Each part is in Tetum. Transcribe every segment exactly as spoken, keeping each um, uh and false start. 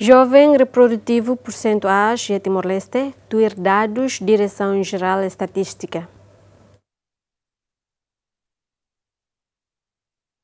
Joven reprodutivu porsentu aas iha Timor-Leste, tuir dadus Diresaun Jerál Estatístika.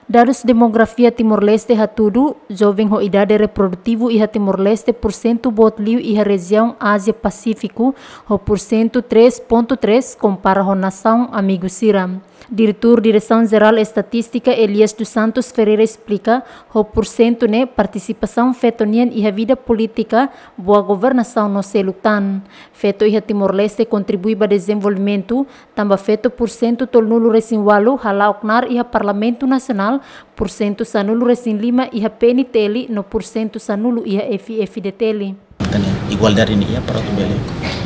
Dadus demografia Timor-Leste hatudu, joven ho idade reprodutivu iha Timor-Leste porsentu boot liu iha rejiaun Ázia Pasífiku, ho porsentu três ponto três, kompara ho nasaun amigu sira. Diretór Diresaun Jerál Estatístika Elias dos Santos Ferreira esplika, ho porsentu ne'e partisipasaun feto nian iha vida polítika, boa governasaun no seluk tan. Feto iha Timor-Leste kontribui ba dezenvolvimentu, tanba feto porsentu tolunulu resin ualu hala'o knaar iha Parlamentu Nasionál, porsentu sanulu resin lima iha P N T L no porsentu sanulu iha F F D T L. Entaun, igualdade ne'e iha para atu bele,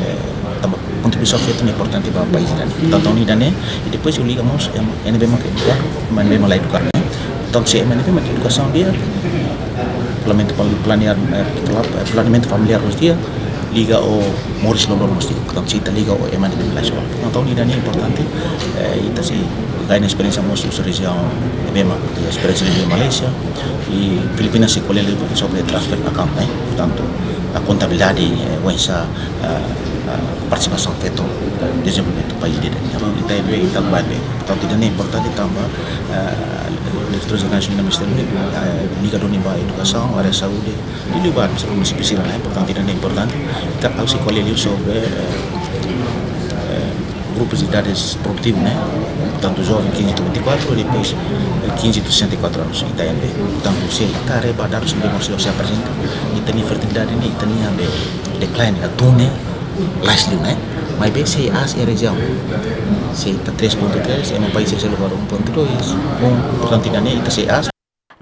eh, tanba kontribuisaun feto ne'e importante ba país ida-ne'e. Entaun, ida-ne'e, i depois liga mós, em, M N B mak eduka, M N B mak la eduka, ne'e. Entaun, se M N B mak edukasaun di'ak, planeamentu pal-, planear, eh, pla-, planeamentu familiár mós di'ak, liga ho moris loroloron mós di'ak. Entaun, se ita liga ho M N B mak la eskola. Entaun, ida-ne'e importante, eh, ita sei gain esperiénsia mós husi rejiaun ne'ebé mak, esperiénsia de Malaysia, i Filipinas sei ko'alia liu sobre transfer account, ne'e? Portantu, a kontabilidade, eh, oinsá, ah, ah, partisipasaun feto, eh, dezenvolvimentu país ida-ne'e. Entaun, ita ebe, ita bá ne'e. Portantu, ida-ne'e importante tanba, ah, Diretór Jerál Nasionál Ministériu, eh, liga duni ba edukasaun, área saúde, i liu ba munisípiu sira, ne'e? Portantu, ida-ne'e importante. Ita, ha'u sei ko'alia liu sobre, eh, eh, grupus de idade produtiva, ne'e? Portantu, joven quinze a vinte e quatro, depois, eh, quinze a sessenta e quatro anos, ita N B. Portantu, se ita haree ba dadus ne'ebé mós sei aprezenta, ita-nia fertilidade ne'e, ita-nia ne'e decline, atu ne'e, lais liu, ne'e? Maibé sei aas iha rejiaun. Se ita três ponto três, iha país sei lugar um ponto dois, um, portantu, ida-ne'e ita sei aas.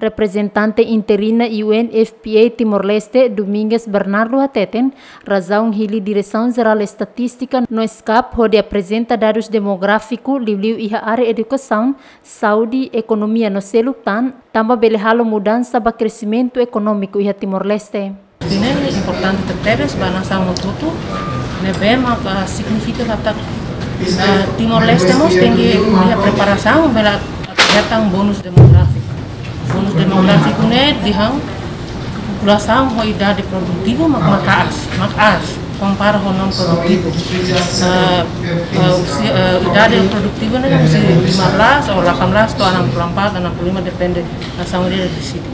Reprezentante interina U N F P A Timor-Leste, Domingues Bernardo hateten, razaun hili Diresaun Jerál Estatístika no SCAP hodi aprezenta dadus demográfiku liuliu iha área edukasaun, saúde, ekonomia no seluk tan, tanba bele halo mudansa ba kresimentu ekonómiku iha Timor-Leste. Ida-ne'e importante tebes ba nasaun hotu-hotu, ne'ebé maka signifika katak, eh, Timor-Leste mós tenke iha preparasaun ba hetan bonus demográfiku. Bonus demográfiku ne'e dehan populasaun ho idade produtivu mak, mak aas, mak aas, kompara ho non produtivu. Eh, eh, usia, eh, idade produtivu ne'e husi lima belas ou delapan belas to'o enam puluh empat, enam puluh lima, depende nasaun ida deside.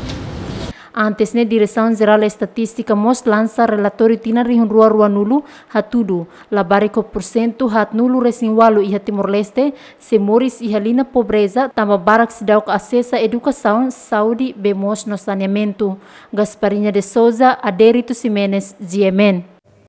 Antes ne'e, Diresaun Jerál Estatístika mós lansa relatóriu tinan rihun rua ruanulu hatudu, labarik ho porsentu haatnulu resin ualu iha Timor-Leste sei moris iha liña pobreza, tanba barak seidauk asesa edukasaun, saúde, bee moos no saneamentu. Gasparinha de Souza, Adérito Ximenes, G M N.